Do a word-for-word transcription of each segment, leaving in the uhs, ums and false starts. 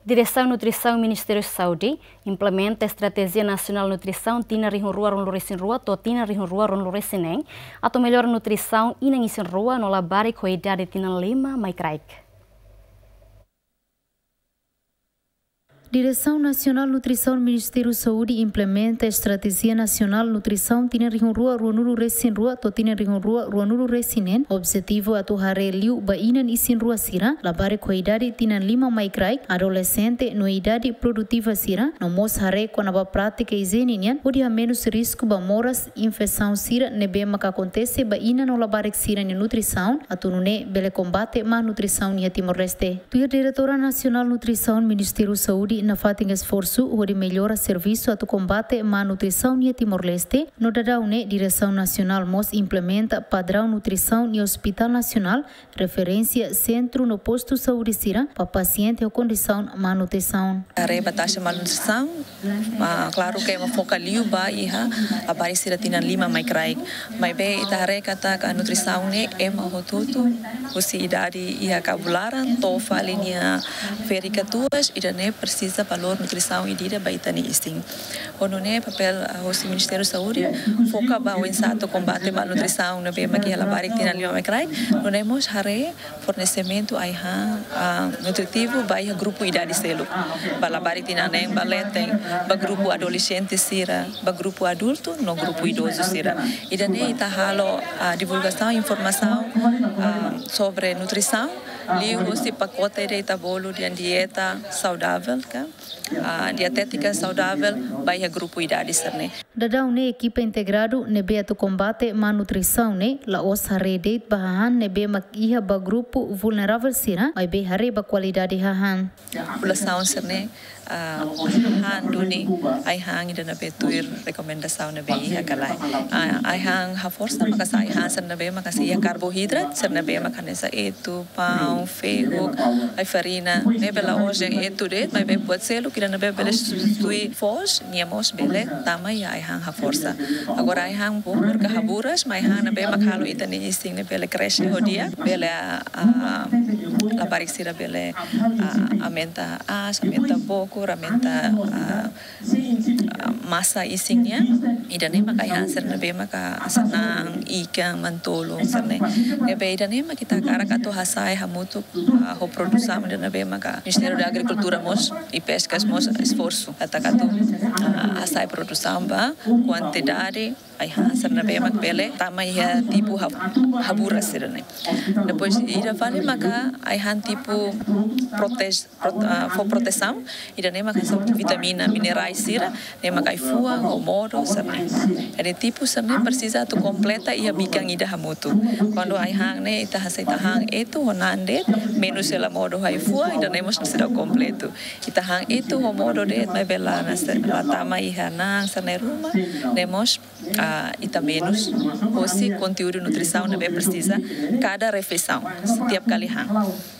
Diresaun Nutrisaun Ministériu Saúde implementa Estratéjia Nasionál Nutrisaun tinan rihun rua ruanulu-resin-rua to'o tinan rihun rua ruanulu-resin-neen, atu mellora nutrisaun inan isin-rua no labarik ho idade tinan lima mai kraik. Diresaun Nasionál Nutrisaun Ministériu Saúde implementa Estratéjia Nasionál Nutrisaun tinan rihun rua ruanulu-resin-rua to'o tinan rihun rua ruanulu-resin-neen, objetivu atu haree liu ba inan isin-rua sira, labarik ho idade tinan lima mai kraik, adolexente no idade produtiva sira, no mós haree kona-ba prátika ijiene nian, hodi hamenus risku ba moras infesaun sira ne'ebé maka akontese ba inan no labarik sira-nia nutrisaun, atu nune'e bele kombate má nutrisaun iha Timor-Leste. Tuir Diretora Nasionál Nutrisaun Ministériu Saúde nafatin esforsu hodi mellora servisu atu kombate má nutrisaun iha Timor-Leste, no daudaun ne'e Diresaun Nasionál mós implementa padraun nutrisaun iha Hospitál Nasionál, referénsia sentru no postu saúde sira ba pasiente ho kondisaun má nutrisaun. Haree ba taxa malnutrisaun, ah, klaru ke ema foka liu ba iha labarik sira tinan lima mai kraik. Maibé ita haree katak nutrisaun ne'e ema hotu-hotu, husi idade iha kabun laran to'o fali nia ferik katuas, ida-ne'e presiza valór nutrisaun ida-idak ba ita-nia isin. Ho nune'e papél, ah, husi Ministériu Saúde foka ba oinsá atu kombate malnutrisaun ne'ebé mak iha labarik tinan lima mai kraik, nune'e mós haree fornesimentu ai-han, ah, nutritivu ba iha grupu idade seluk. Ba labarik tinan neen ba leten, ba grupu adolexente sira, ba grupu adultu no grupu idozu sira. Ida-ne'e ita halo, ah, divulgasaun informasaun, ah, sobre nutrisaun, liuhusi pakote ida ita bolu dehan dieta saudável, ka, ah, dietétika saudável ba iha grupu idade sira-ne'e. Daudaun ne'e ekipa integradu ne'ebé atu kombate má nutrisaun ne'e la'ós haree de'it ba hahán ne'ebé mak iha ba grupu vulneravel sira, maibé haree ba kualidade hahán. Populasaun sira-ne'e, ah, han duni ai-han ida ne'ebé tuir rekomendasaun ne'ebé iha ka lae. Ah, ai-han haforsa maka sai ai-han sira ne'ebé maka sei iha karbohidrat, sira ne'ebé maka hanesan etu, paun, fehuk, ai-farina, ne'ebé la'ós dehan etu de'it, maibé buat seluk ida ne'ebé bele substitui foos, nia mós bele tama iha ai-han haforsa. Agora ai-han bokur ka haburas, maibé ai-han ne'ebé mak halo ita-nia isin ne'e bele krexe ho di'ak, bele, ah, ah, labarik sira bele, ah, aumenta aas, aumenta bokur, aumenta, ah, ah, masa isin nian. Ida-ne'e maka ai-han sira ne'ebé maka hanesan na'an, ikan, manu-tolun sira-ne'e. Ne'ebé ida-ne'e maka ita hakarak atu hasa'e hamutuk, ah, ho produsaun ida ne'ebé maka Ministériu da Agrikultura mós, i Peskas mós esforsu. Atu atu, ah, hasa'e produsaun ba kuantidade ai-han sira ne'ebé mak bele tama iha tipu hab-, haburas sira-ne'e. Depois ida fali maka ai-han tipu prote-, prot-, ah, fó protesaun, ida-ne'e maka hanesan vitamina, minerais sira, ne'e maka ai-fuan, ho modo sira-ne'e. Jadi tipu sira-ne'e presiza atu kompleta iha bikan ida hamutuk. Kuandu ai-han ne'e ita hanesan ita han etu ho na'an de'it, menus hela modo ho ai-fuan, ida-ne'e mós seidauk kompletu. Ita han etu ho modo de'it maibé la hanesan, la tama iha na'an sira-ne'e ruma, ne'e mós, ah, ita menus hosi konteúdu nutrisaun ne'ebé presiza kada refeisaun, setiap kali han.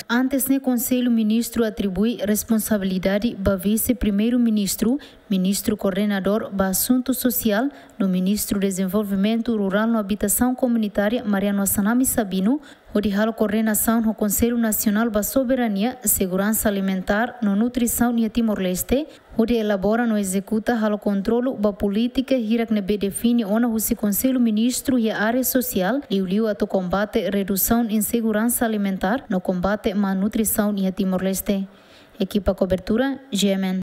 Antes ne'e Konsellu Ministru atribui responsabilidade ba Vise-Primeiru-Ministru, Ministru Koordenadór ba Asuntu Sosiál, no Ministru Dezenvolvimentu Rurál no Abitasaun Komunitária, Mariano Assanami Sabino, hodi halo koordenasaun ho Konsellu Nasionál ba Soberania, Seguransa Alimentár no Nutrisaun iha Timor-Leste, hodi elabora no ezekuta halo kontrolu ba polítika hirak ne'ebé define ona husi Konsellu Ministru iha área sosiál, liuliu atu kombate redusaun inseguransa alimentár no kombate malnutrisaun iha Timor-Leste. Ekipa kobertura, G M N.